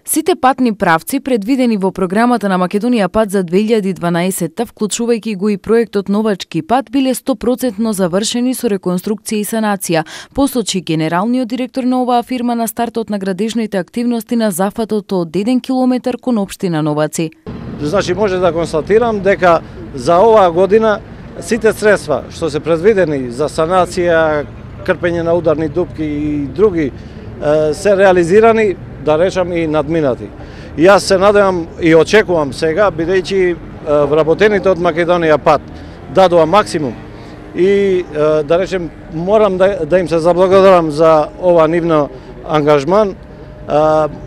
Сите патни правци предвидени во програмата на Македонија пат за 2012, вклучувајќи го и проектот Новачки пат, биле 100% завршени со реконструкција и санација, посочи генералниот директор на оваа фирма на стартот на градежните активности на зафатот од 1 километар кон општина Новаци. Значи може да констатирам дека за оваа година сите средства што се предвидени за санација, крпење на ударни дупки и други се реализирани, да речам, и надминати. И јас се надевам и очекувам сега, бидејќи вработените од Македонија пат дадоа максимум и да речем морам да им се заблагодарам за ова нивно ангажман.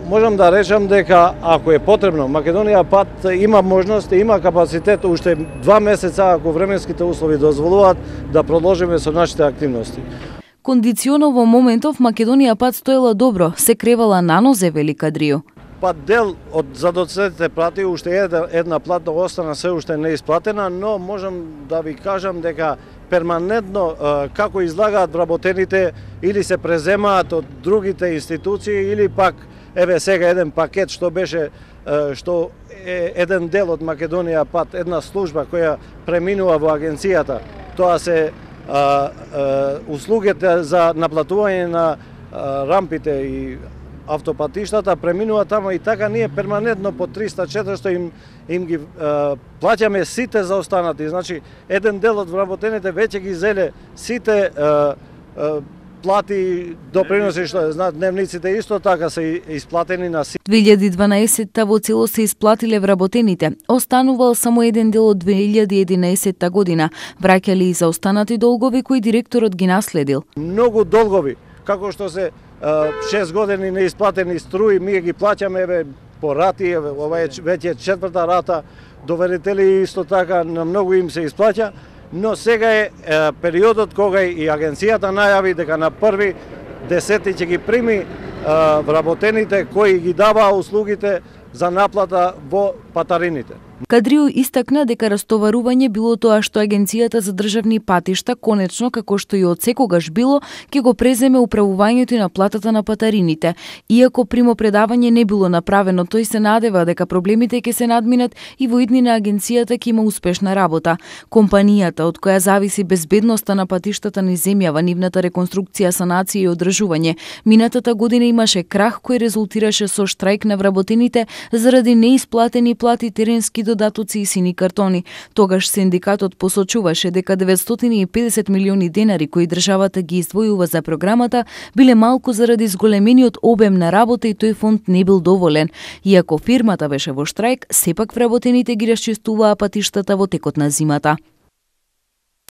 Можам да речам дека ако е потребно, Македонија пат има можност, има капацитет уште 2 месеца, ако временските услови дозволуваат, да продолжиме со нашите активности. Кондиционо во моментов Македонија пат стоела добро, се кревала на нозе, вели Кадрију. Пат дел од задоцнетите плати, уште една плата остана се уште неисплатена, но можам да ви кажам дека перманентно како излагаат вработените или се преземаат од другите институции или пак еве сега еден пакет што беше што е еден дел од Македонија пат, една служба која преминува во агенцијата. Тоа се услугите за наплатување на рампите и автопатиштата преминува тамо и така ние перманентно по 300-400 им ги плаќаме сите за останати. Значи еден дел од вработените веќе ги зеле сите плати, доприноси што знаат, дневниците исто така се исплатени на сите. 2012 во цело се исплатиле вработените. Останувал само еден дел од 2011 година. Враќали и за останати долгови кои директорот ги наследил. Многу долгови, како што се 6 години неисплатени струи, ние ги плаќаме еве по рати, ова е веќе 4-та рата, доверители исто така на многу им се исплаќа, но сега е периодот кога и агенцијата најави дека на 1.10 ќе ги прими вработените кои ги даваа услугите за наплата во патарините. Кадрију истакна дека растоварување било тоа што Агенцијата за државни патишта конечно, како што и од секогаш било, ќе го преземе управувањето и наплатата на патарините. Иако примопредавање не било направено, тој се надева дека проблемите ќе се надминат и во иднина агенцијата ќе има успешна работа. Компанијата, од која зависи безбедноста на патиштата низ земјава, нивната реконструкција, санација и одржување, минатата година имаше крах кој резултираше со штрајк на вработените заради неисплатени плати, теренски додатоци и сини картони. Тогаш синдикатот посочуваше дека 950 милиони денари кои државата ги издвојува за програмата биле малку заради зголемениот обем на работа и тој фонд не бил доволен. Иако фирмата беше во штрајк, сепак вработените ги расчистуваа патиштата во текот на зимата.